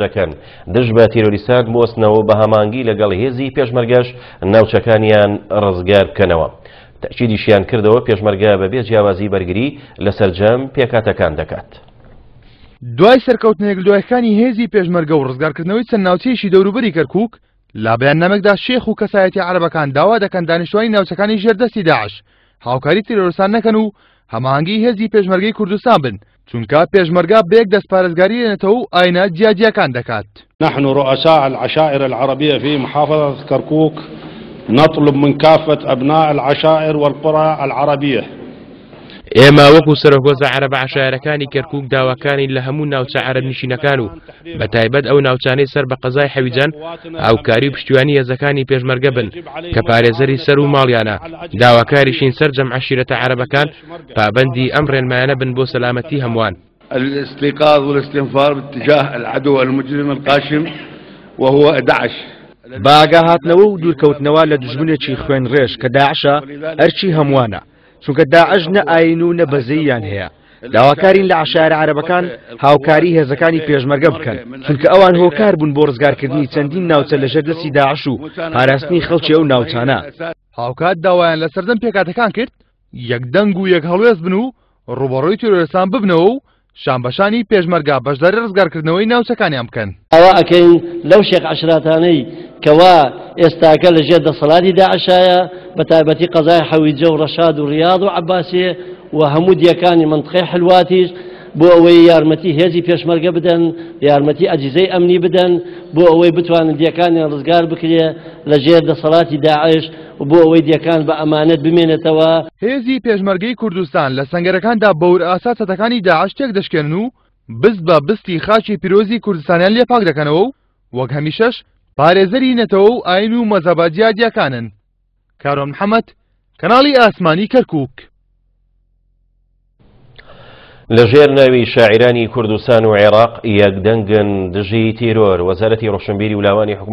دەکەن دژ بە تیرۆریستان بوەستنەوە و بە هەماهەنگی لەگەڵ هێزی پێشمەرگەش ناوچەکانیان ڕزگار بکەنەوە. تەئکیدیشیان کردەوە پێشمەرگە بەبێ جیاوازی بەرگری لە سەرجەم پێکهاتەکان دەکات. دوای سەرکەوتنە یەکلەدوایەکانی هێزی پێشمەرگە و ڕزگارکردنەوەی چەند ناوچەیەکی دەوروبەری کەرکووک، لە بەیاننامەکدا شێخ و کەسایەتیە عەرەبەکان داوا دەکەن دانیشتوانی ناوچەکانی ژێر دەستی داعش هاوکاری تیرۆرستان نەکەن و هەماهەنگی هێزی پێشمەرگەی کوردستان بن، چونکە پێشمەرگە بە یەک دەست پارێزگاری لە نەتەوە و ئاینە جیاجیاکان دەکات. نحن رؤساء العشائر العربية في محافظة كركوك نطلب من كافة أبناء العشائر والقرى العربية. ئێمە وەکو سەرۆک هۆزە عەرەبە عەشایەرەکانی کەرکوک داواکارین لە هەموو ناوچە عەرەبنشینەکان و بە تایبەت ئەو ناوچانەی سەر بە قەزای حەویجەن هاوکاری و پشتیوانی هێزەکانی پێشمەرگە بن کە پارێزەری سەر و ماڵیانە، داواکاریشین سەرجەم عەشیرەتە عەرەبەکان پابەندی ئەم ڕێنمایانە بن بۆ سەلامەتی هەمووان. الاستيقاظ والاستنفار باتجاه العدو المجرم القاشم وهو دعش. بە ئاگاهاتنەوە و دوورکەوتنەوە لە دوژمنێکی خوێنڕێژ کە داعشە ئەرکی هەمووانە، چونکە داعش نە ئایین و نە بەزەییان هەیە، داواکارین لە عەشایەرە عەرەبەکان هاوکاری هێزەکانی پێشمەرگە بکەن، چونکە ئەوان هۆکار بوون بۆ ڕزگارکردنی چەندین ناوچە لەژێر دەستی داعش و پاراستنی خەڵکی ئەو ناوچانە. هاوکات داوایان لە سەرجەم پێکهاتەکان کرد یەک دەنگ و یەک هەڵوێست بن و ڕووبەڕووی تیرۆرستان ببنەوە و شانبەشانی پێشمەرگە بەشداری ڕزگارکردنەوەی ناوچەکانیان بکەن. داوا ئەکەین لەو شێخ عەشراتانەی کەوا ئێستاکە لە ژێر دەسەڵاتی داعشایە بە تایبەتی قەزای حەویجە و ڕەشاد و ڕیاض و عەباسیێ و هەموو دیەکانی مەنتقەی حلواتیش بۆ ئەوەی یارمەتی هێزی پێشمەرگە بدەن، یارمەتی ئەجیزەی ئەمنی بدەن بۆ ئەوەی بتوانن دیەکانیان ڕزگار بکرێ لە ژێر دەسەڵاتی داعش و بۆ ئەوەی دیەکان بە ئەمانەت بمێنێتەوە. هێزی پێشمەرگەی کوردستان لە سەنگەرەکاندا بە ورئاسا چەتەکانی داعش تێکدەشکێنن و بست بە بستی خاکی پیرۆزی کوردستانیان لێ پاک دەکەنەوە و وەک هەمیشەش پارێزەری نەتەوە و ئاین و مەزهەبە جیاجیاکانن. کاروان محەمەد، کەناڵی ئاسمانی کەرکوک. لە ژێر ناوی شاعیرانی کوردستان و عێراق یەکدەنگن دژی تیرۆر، وەزارەتی ڕۆشنبیری و لاوانی حکومەت.